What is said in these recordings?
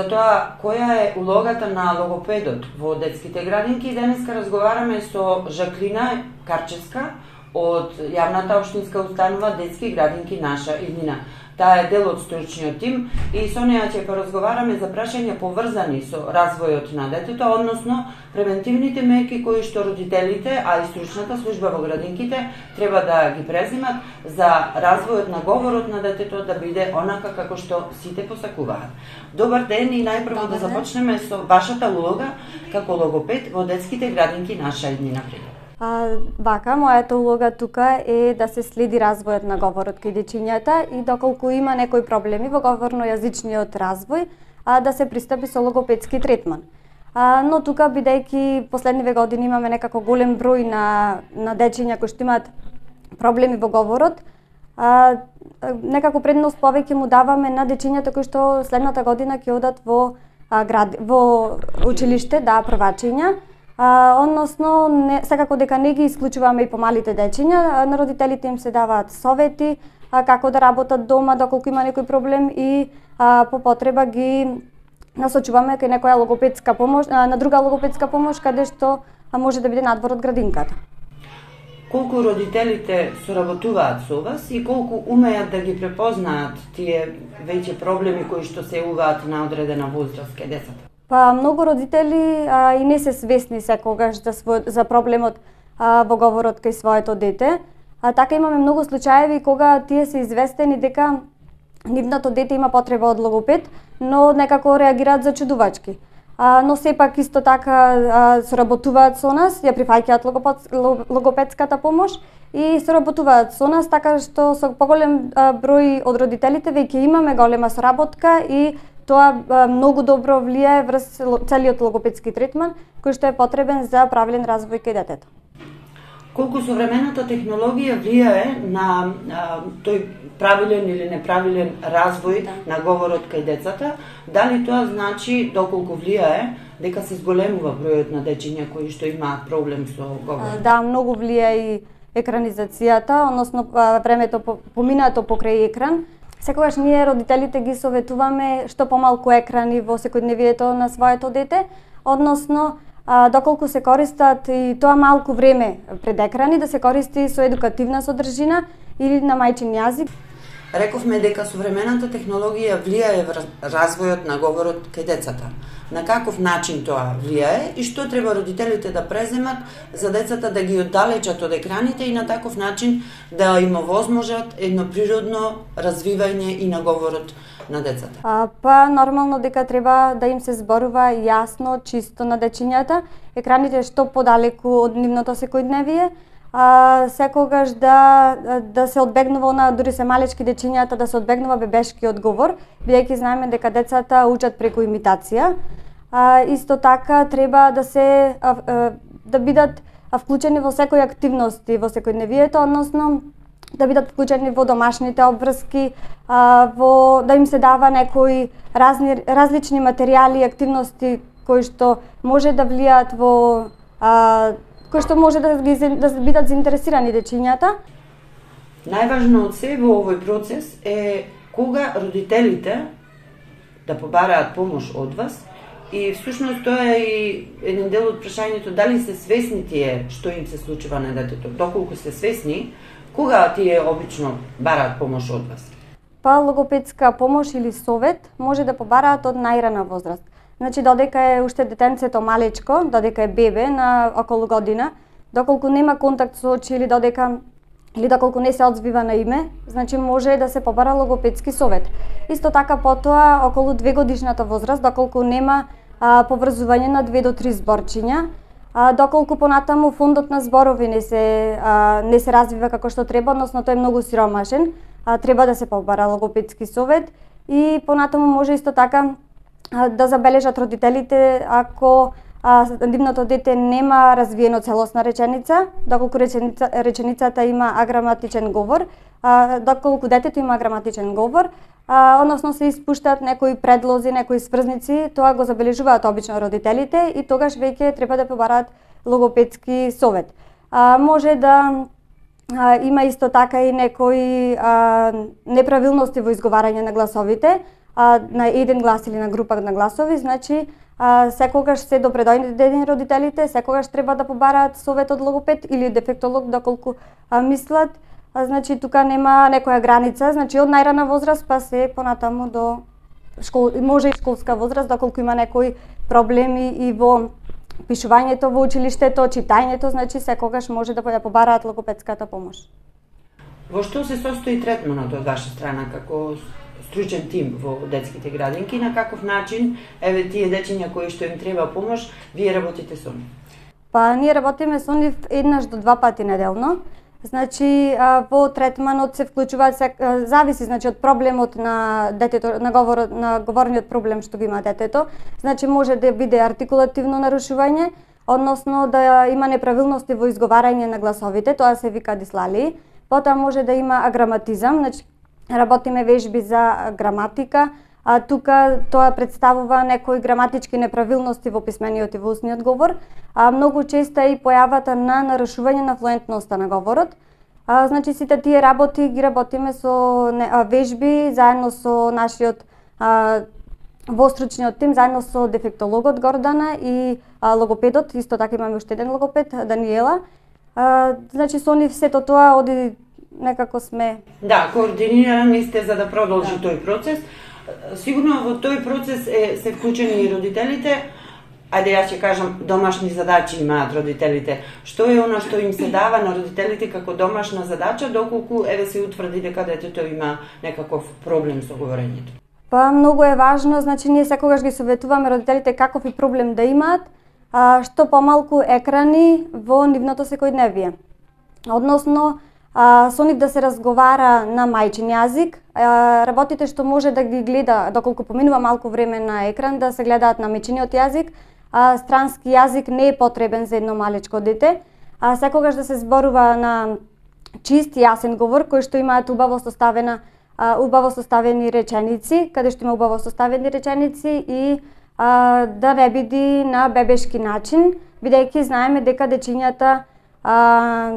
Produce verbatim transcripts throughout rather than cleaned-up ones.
тоа која е улогата на логопедот во детските градинки. Денеска разговараме со Жаклина Карчевска од јавната општинска установа Детски градинки Наша иднина. Таа е дел од стручниот тим и со неја ќе поразговараме за прашања поврзани со развојот на детето, односно превентивните мерки кои што родителите, а и стручната служба во градинките треба да ги преземат за развојот на говорот на детето да биде онака како што сите посакуваат. Добар ден и најпрво да започнеме со вашата улога како логопед во Детските градинки Наша иднина. А, вака, мојата улога тука е да се следи развојот на говорот кај дечињата и доколку има некои проблеми во говорно-јазичниот развој, а, да се пристапи со логопедски третман. А, но тука, бидејќи последниве години имаме некако голем број на, на дечиња кои што имаат проблеми во говорот, а, некако предност повеќе му даваме на дечињата кои што следната година ќе одат во, а, град, во училиште, да, првачиња. А, односно, не, секако дека не ги исклучуваме и помалите дечиња, на родителите им се даваат совети а, како да работат дома доколку има некој проблем и а, по потреба ги насочуваме кај некоја логопедска помош, а, на друга логопедска помош каде што а, може да биде надвор од градинката. Колку родителите соработуваат со вас и колку умеат да ги препознаат тие веќе проблеми кои што се јавуваат на одредена возраст кај децата? Па многу родители а, и не се свесни секогаш за, свој, за проблемот а, во говорот кај своето дете. А така имаме многу случаеви кога тие се известени дека нивното дете има потреба од логопед, но некако реагираат зачудувачки. А, но сепак исто така а, соработуваат со нас, ја прифаќаат логопед, логопедската помош и соработуваат со нас, така што со поголем а, број од родителите веќе имаме голема соработка и тоа а, многу добро влијае врз целиот логопедски третман кој што е потребен за правилен развој кај детето. Колку современата технологија влијае на а, тој правилен или неправилен развој да. на говорот кај децата, дали тоа значи доколку влијае дека се зголемува бројот на дечиња кои што имаат проблем со говорот? Да, многу влијае и екранизацијата, односно времето поминато покрај екран. Секогаш ние родителите ги советуваме што помалку екрани во секојдневието на своето дете, односно а, доколку се користат и тоа малку време пред екрани, да се користи со едукативна содржина или на мајчин јазик. Рековме дека современата технологија влијае врз развојот на говорот кај децата. На каков начин тоа влијае и што треба родителите да преземат за децата да ги оддалечат од екраните и на таков начин да им овозможат едно природно развивање и на говорот на децата? А, па нормално дека треба да им се зборува јасно, чисто на дечињата, екраните што подалеку од нивното секојдневие, а, секогаш да, да се одбегнува на дури се малечки дечињата да се одбегнува бебешки одговор, бидејќи знаеме дека децата учат преку имитација. А, исто така треба да се а, а, да бидат вклучени во секои активности во секојдневието, односно да бидат вклучени во домашните обврски, а, во да им се дава некои разни различни материјали и активности кои што може да влијаат во а, кои што може да ги да бидат заинтересирани дечињата. Најважно од се во овој процес е кога родителите да побараат помош од вас и всушност тоа е и еден дел од прашањето дали се свесни тие што им се случува на детето. Доколку се свесни, кога тие обично бараат помош од вас? Па логопедска помош или совет може да побараат од најрана возраст. Значи додека е уште детенцето малечко, додека е бебе на околу година, доколку нема контакт со очи или додека или доколку не се одзвива на име, значи може да се побара логопедски совет. Исто така потоа околу две годишната возраст, доколку нема а, поврзување на две до три зборчиња, а, доколку понатаму фондот на зборови не се а, не се развива како што треба, односно тој е многу сиромашен, а, треба да се побара логопедски совет и понатаму може исто така а, да забележат родителите ако а, нивното дете нема развиено целосна реченица, доколку реченица, реченицата има аграматичен говор, а, доколку детето има аграматичен говор, а, односно се испуштаат некои предлози, некои сврзници, тоа го забележуваат обично родителите и тогаш веќе треба да побараат логопедски совет. А, може да а, има исто така и некои а, неправилности во изговарање на гласовите, а, на еден глас или на група на гласови, значи а, секогаш се допредојдени родителите, секогаш треба да побараат совет од логопед или дефектолог доколку а, мислат. А, значи тука нема некоја граница, значи од најрана возраст па се понатаму до школ, може и школска возраст доколку има некои проблеми и во пишувањето во училиштето, читањето, значи секогаш може да ја побараат логопедската помош. Во што се состои третманот од ваша страна како стручен тим во детските градинки, на каков начин еве тие дечиња кои што им треба помош, вие работите со нив? Па ние работиме со нив еднаш до два пати неделно. Значи во третманот се вклучуваат се, зависи значи од проблемот на детето, на говорот, на говорниот проблем што го има детето. Значи може да биде артикулативно нарушување, односно да има неправилности во изговарање на гласовите, тоа се вика дислалии. Потоа може да има аграматизам, значи работиме вежби за граматика, а тука тоа представува некои граматички неправилности во писмениот и во устниот говор, а многу често е и појавата на нарушување на флуентноста на говорот. А, значи сите тие работи ги работиме со не, а, вежби заедно со нашиот а, востручниот тим, заедно со дефектологот Гордана и а, логопедот, исто така имаме уште еден логопед, Даниела. А, значи со нив сето тоа оди некако сме. Да, координирани сте за да продолжи да. тој процес. Сигурно во тој процес е, се вклучени и родителите. Ајде јас ќе кажам, домашни задачи имаат родителите. Што е она што им се дава на родителите како домашна задача, доколку еве се утврди дека детето има некаков проблем со говорењето? Па многу е важно, значи ние секогаш ги советуваме родителите каков и проблем да имаат, а, што помалку екрани во нивното секојдневие. Односно, а, со нив да се разговара на мајчин јазик, а, работите што може да ги гледа, доколку поминува малку време на екран, да се гледаат на мајчиниот јазик, а странски јазик не е потребен за едно малечко дете, а секогаш да се зборува на чист, јасен говор, кој што имаат убаво составена, а, убаво составени реченици, каде што има убаво составени реченици и а, да не биде на бебешки начин, бидејќи знаеме дека дечињата а,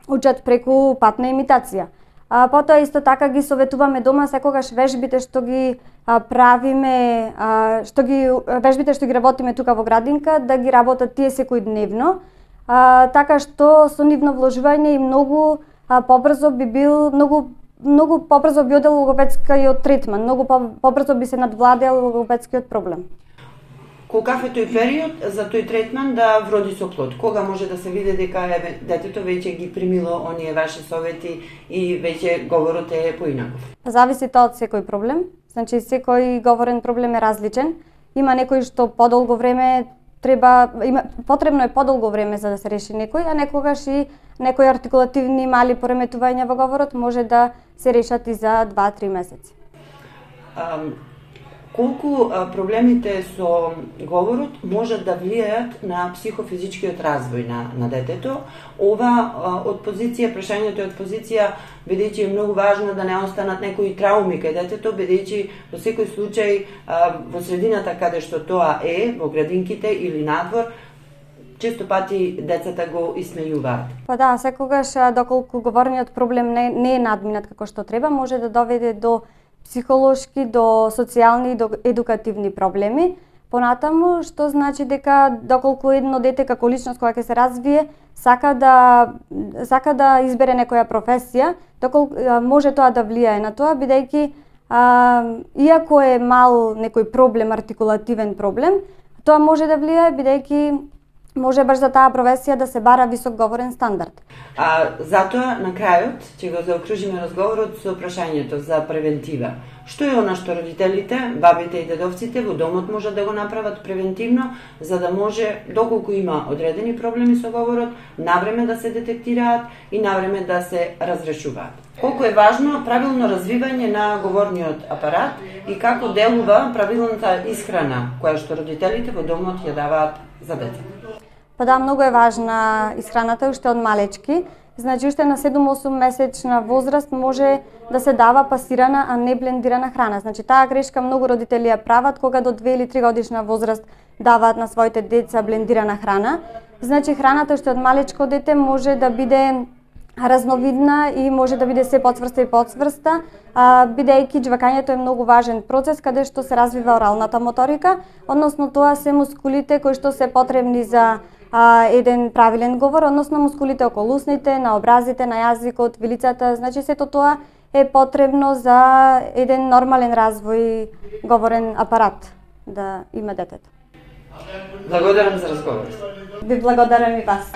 учат преку патна имитација. А, потоа исто така ги советуваме дома секогаш вежбите што ги а, правиме, а, што ги вежбите што ги работиме тука во градинка, да ги работат тие секојдневно, а, така што со нивно вложување и многу а, побрзо би бил многу многу побрзо би одел логопедскиот третман, многу побрзо би се надвладеал логопедскиот проблем. Колкав е тој период за тој третман да вроди со плод? Кога може да се види дека еве детето веќе ги примило оние ваши совети и веќе говорот е поинаков? Зависи тоа од секој проблем. Значи секој говорен проблем е различен. Има некој што подолго време треба има потребно е подолго време за да се реши некој, а некогаш и некои артикулативни мали пореметувања во говорот може да се решат и за два-три месеци. Um... Колку а, проблемите со говорот можат да влијаат на психофизичкиот развој на, на детето? Ова а, од позиција, прашањето е од позиција, бидејќи е многу важно да не останат некои трауми кај детето, бидејќи во секој случај а, во средината каде што тоа е, во градинките или надвор, често пати децата го исмејуваат. Па да, секогаш доколку говорниот проблем не, не е надминат како што треба, може да доведе до психолошки, до социјални и до едукативни проблеми. Понатаму, што значи дека доколку едно дете како личност која ќе се развие, сака да сака да избере некоја професија, доколку може тоа да влијае на тоа, бидејќи а, иако е мал некој проблем, артикулативен проблем, тоа може да влијае бидејќи може баш за таа професија да се бара висок говорен стандард. А затоа на крајот ќе го заокружиме разговорот со прашањето за превентива. Што е она што родителите, бабите и дедовците во домот можат да го направат превентивно, за да може, доколку има одредени проблеми со говорот, навреме да се детектираат и навреме да се разрешуваат. Колку е важно правилно развивање на говорниот апарат и како делува правилната исхрана која што родителите во домот ја даваат за децата. Па да, многу е важна исхраната уште од малечки. Значи уште на седум-осум месечна возраст може да се дава пасирана, а не блендирана храна. Значи таа грешка многу родители ја прават кога до две или три годишна возраст даваат на своите деца блендирана храна. Значи храната уште од малечко дете може да биде разновидна и може да биде се подсврста и подсврста, а, бидејќи џвакањето е многу важен процес каде што се развива оралната моторика, односно тоа се мускулите кои што се потребни за а, еден правилен говор, односно мускулите околу усните, на образите, на јазикот, вилицата, значи сето тоа е потребно за еден нормален развој говорен апарат да има детето. Благодарам за разговор. Ви благодарам и вас.